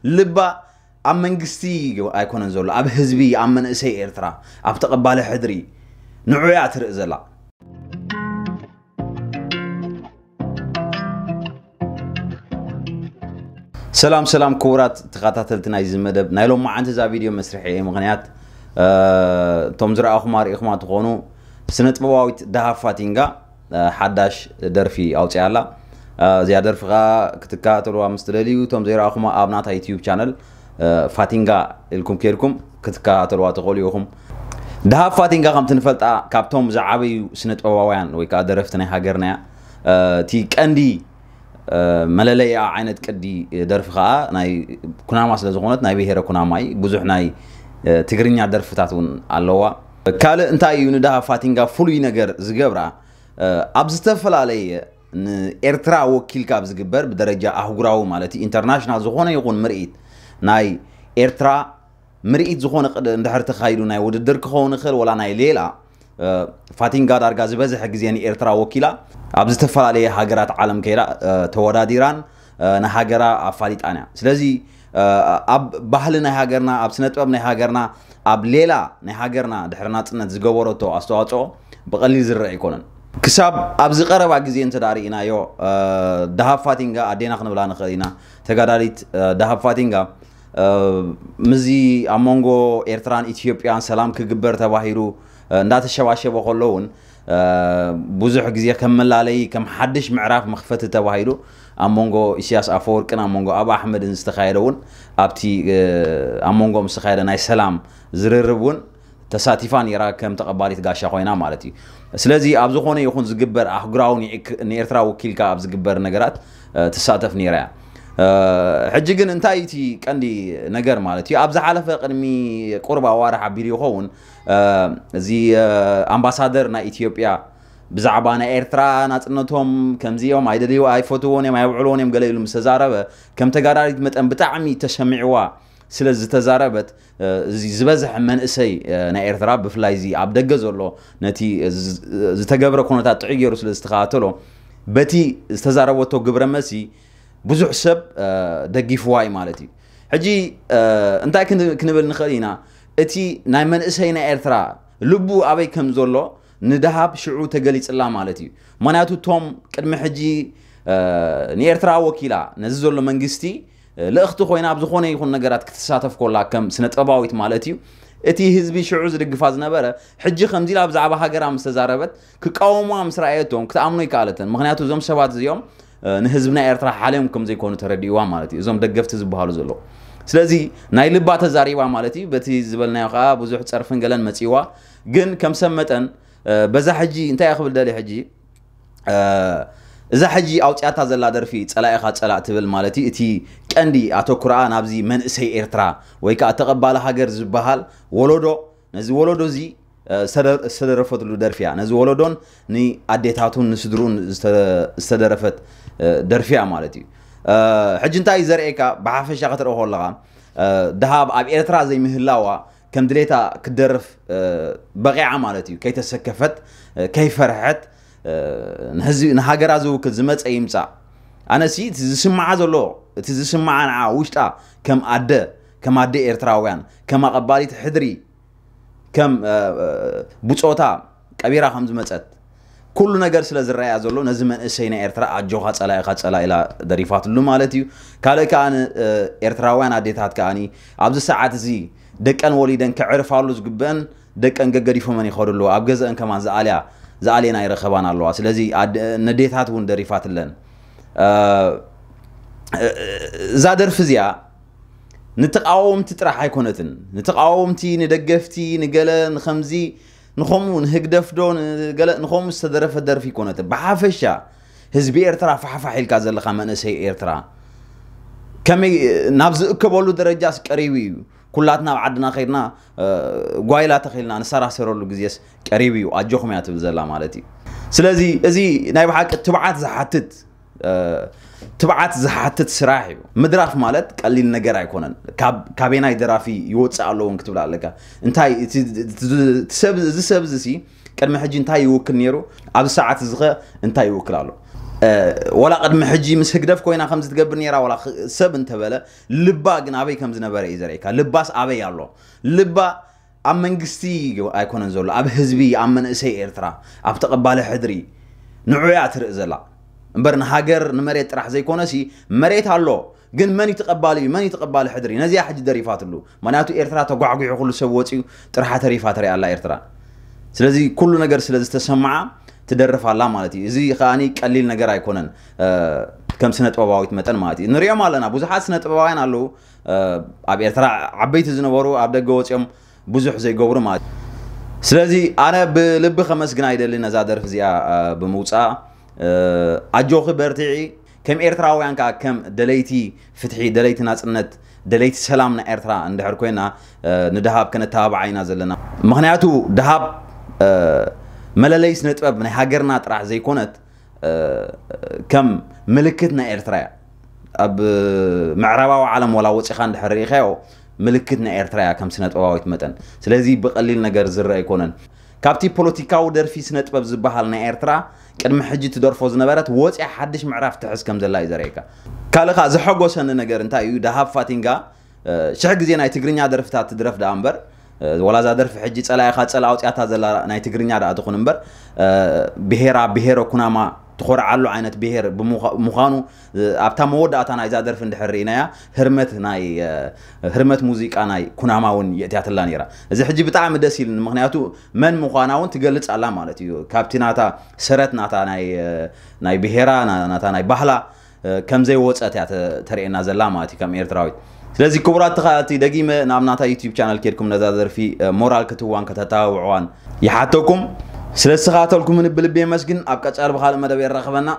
ልባ ኣብ መንግስቲ ኣይኮነን ዘሎ፣ ኣብ ህዝቢ፣ ኣብ መንእሰይ ኤርትራ፣ ኣብ ተቐባሊ ሕድሪ ንዑ እያ ትርኢ ዘላ። ሰላም ሰላም ክቡራት ተኸታተልቲ ናይዚ መደብ፣ ናይ ሎማዓንቲ እዛ ቪድዮ መስርሒ ምኽንያት እቶም ዝረኣኹማ ርኢኹማ ትኾኑ፣ ስነ ጥበባዊት ደሃብ ፋቲንጋ ሓዳሽ ደርፊ ኣውፅያ ኣላ። እዚኣ ደርፊ ከዓ ክትከታተልዋ ምስ ትደልዩ፣ እቶም ዘይረኣኹማ ኣብ ናታ ዩትዩብ ቻነል ፋቲንጋ ኢልኩም ከይድኩም ክትከታተልዋ ትኽእሉ ኢኹም። ደሃብ ፋቲንጋ ከምቲ ንፈልጣ ካብቶም ዝዓበዩ ስነ ጥበባውያን ወይ ከዓ ደረፍቲ ናይ ሃገርና እያ። እቲ ቀንዲ መለለይኣ ዓይነት ቅዲ ደርፊ ከዓ ናይ ኩናማ ስለ ዝኾነት፣ ናይ ብሄረ ኩናማ እዩ። ብዙሕ ናይ ትግርኛ ደርፍታት እውን ኣለዋ። ካልእ እንታይ እዩ ንደሃብ ፋቲንጋ ፍሉይ ነገር ዝገብራ? ኣብ ዝተፈላለየ ንኤርትራ ወኪልካ ኣብ ዝግበር ብደረጃ ኣህጉራዊ ማለት እዩ፣ ኢንተርናሽናል ዝኾነ ይኹን ምርኢት ናይ ኤርትራ ምርኢት ዝኾነ ቅድ- እንድሕር ተኻይዱ፣ ናይ ውድድር ክኸውን ይኽእል ወላ ናይ ሌላ፣ ፋቲንጋ ዳርጋ ዝበዝሐ ግዜ ንኤርትራ ወኪላ ኣብ ዝተፈላለየ ሃገራት ዓለም ከይዳ ተወዳዲራን ንሃገራ ኣፋሊጣን እያ። ስለዚ ኣብ ባህሊ ናይ ሃገርና፣ ኣብ ስነ ጥበብ ናይ ሃገርና፣ ኣብ ሌላ ናይ ሃገርና ድሕሪ ናጽነት ዝገበረቶ ኣስተዋጽኦ ብቐሊል ዝረአ ኣይኮነን። ክሳብ ኣብዚ ቀረባ ግዜ እንተ ደኣ ርኢናዮ፣ ደሃብ ፋቲንጋ ኣዴና ክንብላ ንኽእል ኢና። ተጋዳሊት ደሃብ ፋቲንጋ ምስዚ ኣብ መንጎ ኤርትራን ኢትዮጵያን ሰላም ክግበር ተባሂሉ እንዳተሸባሸበ ከሎ እውን፣ ብዙሕ ግዜ ከም መላለዪ፣ ከም ሓድሽ ምዕራፍ መኽፈቲ ተባሂሉ ኣብ መንጎ ኢሳያስ ኣፈወርቅን ኣብ መንጎ ኣብ ኣሕመድን ዝተኻየደ እውን፣ ኣብቲ ኣብ መንጎኦም ዝተኻየደ ናይ ሰላም ዝርርብ እውን ተሳቲፋ ነይራ፣ ከም ተቐባሊት ጋሻ ኮይና ማለት እዩ። ስለዚ ኣብ ዝኾነ ይኹን ዝግበር ኣህጉራዊ ንኤርትራ ወኪልካ ኣብ ዝግበር ነገራት ትሳተፍ ነይራ እያ። ሕጂ ግን እንታይ እቲ ቀንዲ ነገር ማለት እዩ? ኣብ ዝሓለፈ ቅድሚ ቁርብ ኣዋርሕ ኣቢሉ ይኸውን፣ እዚ ኣምባሳደር ናይ ኢትዮጵያ ብዛዕባ ናይ ኤርትራ ናጽነቶም ከምዚኦም ኣይደልዩ ኣይፈትዎን እዮም ኣይውዕልዎን እዮም ገለ ኢሉ ምስ ተዛረበ፣ ከም ተጋዳሊት መጠን ብጣዕሚ ተሰሚዕዋ ስለ ዝተዛረበት፣ እዚ ዝበዝሐ መንእሰይ ናይ ኤርትራ ብፍላይ እዚ ኣብ ደገ ዘሎ ነቲ ዝተገብረ ኩነታት ጥዑይ ገይሩ ስለ ዝተኸታተሎ፣ በቲ ዝተዛረበቶ ግብረ መልሲ ብዙሕ ሰብ ደጊፍዋ እዩ ማለት እዩ። ሕጂ እንታይ ክንብል ንኽእል ኢና? እቲ ናይ መንእሰይ ናይ ኤርትራ ልቡ ኣበይ ከም ዘሎ ንደሃብ ሽዑ ተገሊጽላ ማለት እዩ። ምኽንያቱ እቶም ቅድሚ ሕጂ ንኤርትራ ወኪላ ነዚ ዘሎ መንግስቲ ልእኽቲ ኮይና ኣብ ዝኾነ ይኹን ነገራት ክትሳተፍ ኮላ ከም ስነ ጥበባዊት ማለት እዩ፣ እቲ ህዝቢ ሽዑ ዝድግፋ ዝነበረ ሕጂ ከምዚ ኢላ ብዛዕባ ሃገራ ምስ ተዛረበት ክቃወሙዋ ምስ ረኣየቶም ክትኣምኖ ይከኣለተን። ምኽንያቱ እዞም ሰባት እዚኦም ንህዝብና ኤርትራ ሓልዮም ከም ዘይኮኑ ተረዲእዋ ማለት እዩ፣ እዞም ደገፍቲ ዝበሃሉ ዘለዉ። ስለዚ ናይ ልባ ተዛሪባ ማለት እዩ። በቲ ዝበልናዮ ከዓ ብዙሕ ፀርፍን ገለን መፂእዋ። ግን ከም ሰብ መጠን በዛ ሕጂ እንታይ እየ ክብል ደልየ ሕጂ፣ እዛ ሕጂ ኣውፅያታ ዘላ ደርፊ ፀላኢኻ ፀላእ ትብል ማለት እዩ። እቲ ቀንዲ ኣተኩራኣ ናብዚ መንእሰይ ኤርትራ ወይ ከዓ ተቐባሊ ሃገር ዝበሃል ወለዶ፣ ነዚ ወለዶ እዚ ዝተደረፈትሉ ደርፊ እያ። ነዚ ወለዶን ንኣዴታቱን ንስድሩን ዝተደረፈት ደርፊ እያ ማለት እዩ። ሕጂ እንታይ እዩ ዘርእየካ? ብሓፈሻ ክትረኦ ከለኻ፣ ደሃብ ኣብ ኤርትራ ዘይምህላዋ ከም ድሌታ ክደርፍ በቂዓ ማለት እዩ። ከይተሰከፈት፣ ከይፈርሐት፣ ንህዝቢ ንሃገራ ዝውክል ዝመፀ ይምፃእ። ኣነሲ እቲ ዝስምዓ ዘሎ፣ እቲ ዝስምዓ ንዓ ውሽጣ ከም ኣደ፣ ከም ኣደ ኤርትራውያን፣ ከም ኣቐባሊት ሕድሪ፣ ከም ብፆታ ቀቢራ ከም ዝመፀት ኩሉ ነገር ስለ ዝረኣያ ዘሎ፣ ነዚ መንእሰይ ናይ ኤርትራ ኣጆኻ ፀላኢኻ ፀላ ኢላ ደሪፋትሉ ማለት እዩ። ካልእ ከዓ ኤርትራውያን ኣዴታት ከዓኒ ኣብዚ ሰዓት እዚ ደቀን ወሊደን ከዕርፋሉ ዝግበአን ደቀን ገገዲፎመን ይኸዱ ኣለዋ። ኣብ ገዘአን ከማን ዝኣልያ ዝኣልየን ኣይረኸባን ኣለዋ። ስለዚ ነዴታት እውን ደሪፋትለን። እዛ ደርፊ እዚኣ ንተቃወምቲ ጥራሕ ኣይኮነትን። ንተቃወምቲ፣ ንደገፍቲ፣ ንገለ፣ ንኸምዚ፣ ንኸምኡ፣ ንህግደፍ ዶ ንገለ ንኸምኡ ዝተደረፈት ደርፊ ኣይኮነትን። ብሓፈሻ ህዝቢ ኤርትራ ፋሕፋሕ ኢልካ ዘለኻ መንእሰይ ኤርትራ ከመይ ናብ ዝእከበሉ ደረጃስ ቀሪቡ እዩ። ኩላትና ኣብ ዓድና ከይድና ጓይላ ተኺልና ንሰራሰረሉ ግዜስ ቀሪቡ እዩ። ኣጆኹም እያ ትብል ዘላ ማለት እዩ። ስለዚ እዚ ናይ ብሓቂ ትብዓት ዝሓትት ትብዓት ዝሓትት ስራሕ እዩ። ምድራፍ ማለት ቀሊል ነገር ኣይኮነን። ካበናይ ደራፊ ይወፅእ ኣለውን ክትብል ኣለካ። እንታይ እቲ ሰብ እዚ ሰብ እዚ ቅድሚ ሕጂ እንታይ ይውክል ነይሩ፣ ኣብዚ ሰዓት እዚ ኸ እንታይ ይውክል ኣሎ? ወላ ቅድሚ ሕጂ ምስ ህግደፍ ኮይና ከምዚ ትገብር ነይራ፣ ወላ ሰብ እንተበለ፣ ልባ ግን ኣበይ ከም ዝነበረ እዩ ዘርእካ። ልባስ ኣበይ ኣሎ? ልባ ኣብ መንግስቲ ኣይኮነን ዘሎ፣ ኣብ ህዝቢ፣ ኣብ መንእሰይ ኤርትራ፣ ኣብ ተቐባሊ ሕድሪ፣ ንዑ እያ ትርኢ ዘላ እምበር፣ ንሃገር ንመሬት ጥራሕ ዘይኮነሲ፣ መሬት ኣሎ፣ ግን መን እዩ ተቐባሊ፣ መን እዩ ተቐባሊ ሕድሪ? ነዚያ ሕጂ ደሪፋትሉ። ምክንያቱ ኤርትራ ተጓዕጒሑ፣ ኩሉ ሰብ ወፂኡ፣ ጥርሓ ተሪፋ ተሪኣ ኣላ ኤርትራ። ስለዚ ኩሉ ነገር ስለ ዝተሰማዓ ትደርፍ ኣላ ማለት እዩ። እዚ ከኣ ቀሊል ነገር ኣይኮነን፣ ከም ስነ ጥበባዊት መጠን ማለት እዩ። ንሪኦም ኣለና፣ ብዙሓት ስነ ጥበባውያን ኣለዉ፣ ኣብ ኤርትራ ዓበይቲ ዝነበሩ፣ ኣብ ደገ ወፂኦም ብዙሕ ዘይገብሩ ማለት እዩ። ስለዚ ኣነ ብልቢ ከመስግና ይደሊ ነዛ ደርፊ እዚኣ ብምውፃኣ። ኣጆኺ በርትዒ። ከም ኤርትራውያን ከዓ ከም ደለይቲ ፍትሒ፣ ደለይቲ ናጽነት፣ ደለይቲ ሰላም ናይ ኤርትራ እንድሕር ኮይና፣ ንደሃብ ከነተባብዓ ኢና ዘለና። ምክንያቱ ደሃብ መለለይ ስነ ጥበብ ናይ ሃገርና ጥራሕ ዘይኮነት፣ ከም ምልክት ናይ ኤርትራ እያ። ኣብ ምዕራባዊ ዓለም ወላ ወፂኻ እንድሕር ርኢኻዮ፣ ምልክት ናይ ኤርትራ እያ ከም ስነ ጥበባዊት መጠን። ስለዚ ብቐሊል ነገር ዝረአ ኣይኮነን። ካብቲ ፖለቲካዊ ደርፊ ስነ ጥበብ ዝበሃል ናይ ኤርትራ ቅድሚ ሕጂ ትደርፎ ዝነበረት ወፂኣ ሓድሽ ምዕራፍ ትሕዝ ከም ዘላ እዩ ዘርእየካ። ካልእ ኸኣ ዘሐጎሰኒ ነገር እንታይ እዩ? ደሃብ ፋቲንጋ ሽሕ ግዜ ናይ ትግርኛ ደርፍታት ትድረፍ ደኣ እምበር፣ ወላ እዛ ደርፊ ሕጂ ጸላኢኻ ጸላ ኣውፅያታ ዘላ ናይ ትግርኛ ደኣ ትኹን እምበር፣ ብሄራ ብሄረ ኩናማ ትኾርዓሉ ዓይነት ብሄር ብምዃኑ፣ ኣብታ መወዳእታ ናይዛ ደርፊ እንድሕር ርኢናያ፣ ህርመት ናይ ህርመት ሙዚቃ ናይ ኩናማ እውን የእትያትላ ነይራ። እዚ ሕጂ ብጣዕሚ ደስ ኢልኒ፣ ምክንያቱ መን ምዃና እውን ትገልጽ ኣላ ማለት እዩ። ካብቲ ናታ ሰረት ናታ ናይ ናይ ብሄራ ናታ ናይ ባህላ ከም ዘይወጸት እያ ተርእየና ዘላ ማለት እዩ ከም ኤርትራዊት። ስለዚ ክቡራት ተኸታተልቲ፣ ደጊመ ናብ ናታ ዩቲዩብ ቻነል ኬድኩም ነዛ ደርፊ ሞራል ክትዋን ከተተባብዕዋን ይሓተኩም። ስለ ዝተኸታተልኩምኒ ብልቢ የመስግን። ኣብ ቀጻሊ ብኻልእ መደብ የራኽበና።